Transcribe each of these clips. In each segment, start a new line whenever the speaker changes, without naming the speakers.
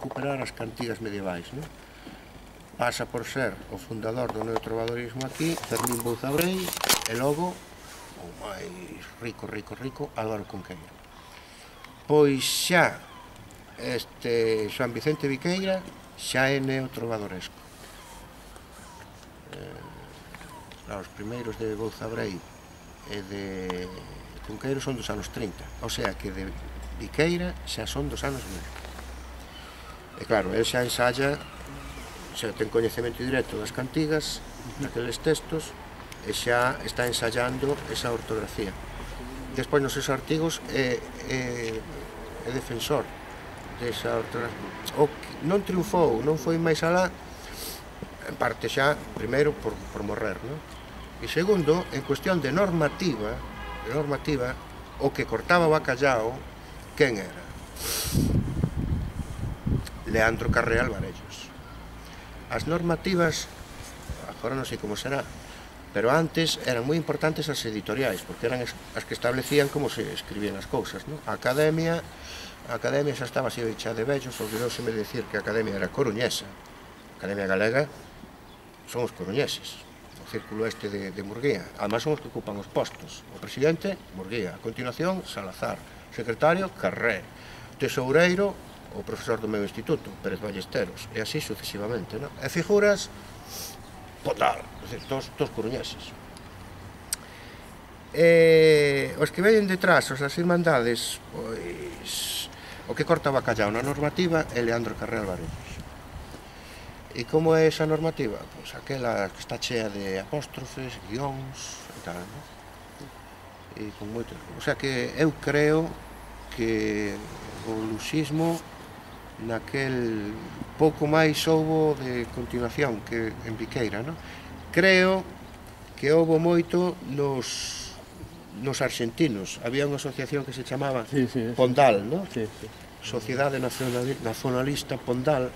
recuperar as cantigas medievais, non? Pasa por ser o fundador do neotrovadorismo aquí, Fermín Bouzabrei, e logo o máis rico Álvaro Cunqueiro. Pois xa Xoán Vicente Viqueira xa é neotrovadoresco. Os primeiros de Bouzabrei e de Cunqueiro son dos anos 30, o sea que de Viqueira xa son dos anos 1000. E claro, el xa ensaya, xa ten coñecemento directo das cantigas, daqueles textos, e xa está ensayando esa ortografía. Despois nos seus artigos é defensor desa ortografía. Non triunfou, non foi máis alá, en parte xa, primeiro, por morrer, non? E segundo, en cuestión de normativa, o que cortaba o bacallao, quen era? Leandro Carré Alvarellos. As normativas, agora non sei como será, pero antes eran moi importantes as editoriais, porque eran as que establecían como se escribían as cousas, non? A Academia xa estaba así chea de vellos, olvidouseme de dicir que a Academia era coruñesa. A Academia Galega son os coruñeses, o círculo este de Murguía. Además son os que ocupan os postos. O presidente, Murguía. A continuación, Salazar. Secretario, Carré. Tesoureiro, o profesor do meu instituto, Pérez Ballesteros, e así sucesivamente, non? E figuras, Pondal, todos coruñeses. Os que veñen detrás, os das irmandades, pois, o que corta o bacallao na normativa é Leandro Carré Alvarellos. E como é esa normativa? Pois aquela que está chea de apóstrofes, guións e tal, non? E con moito... O sea que eu creo que o luxismo naquel pouco máis houbo de continuación que en Viqueira, non? Creo que houbo moito nos arxentinos. Había unha asociación que se chamaba Pondal, non? Sociedade Nacionalista Pondal,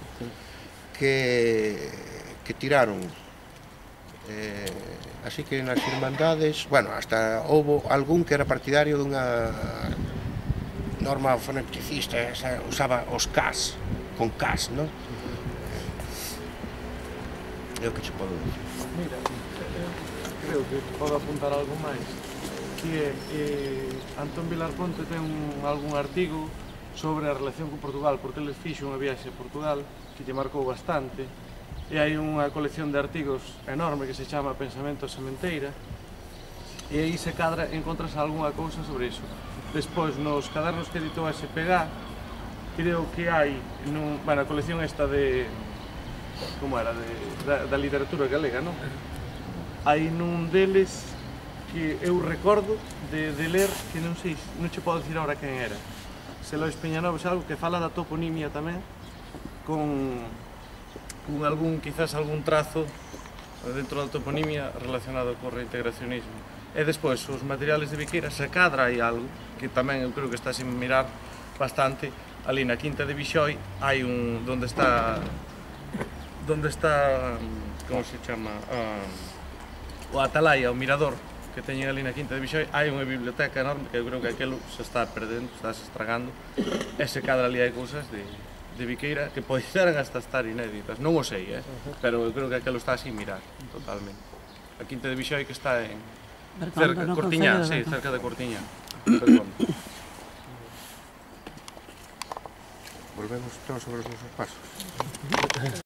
que tiraron. Así que nas irmandades, bueno, hasta houbo algún que era partidario dunha norma foneticista, usaba os Ks, con Ks, non? É o que che podo dicir.
Mira, creo que podo apuntar algo máis, que Antón Vilar Ponte ten algún artigo sobre a relación con Portugal, porque ele fixo unha viaxe a Portugal que lle marcou bastante, e hai unha colección de artigos enorme que se chama Pensamento Sementeira, e aí se cadra, encontras algunha cousa sobre iso. Despois, nos cadernos que editou a SPG, creo que hai, a colección esta de, como era, da literatura galega, non? Hai nun deles que eu recordo de ler, que non sei, non che podo dicir agora quen era. Se Lois Peñanoves, algo que fala da toponimia tamén, con quizás algún trazo dentro da toponimia relacionado co reintegracionismo. E despois, os materiales de Viqueira, se cadra hai algo, que tamén eu creo que está sin mirar bastante, ali na Quinta de Vixoi, hai donde está, como se chama, o Atalaya, o mirador, que teñen ali na Quinta de Vixoi, hai unha biblioteca enorme, que eu creo que aquilo se está perdendo, está se estragando, e se cadra ali hai cousas de Viqueira que poderan hasta estar inéditas, non o sei, pero eu creo que aquilo está sin mirar, totalmente. A Quinta de Vixoi que está en cerca de Cortiñá, sí, cerca de Cortiñá.
Volvemos todos sobre os nosos pasos.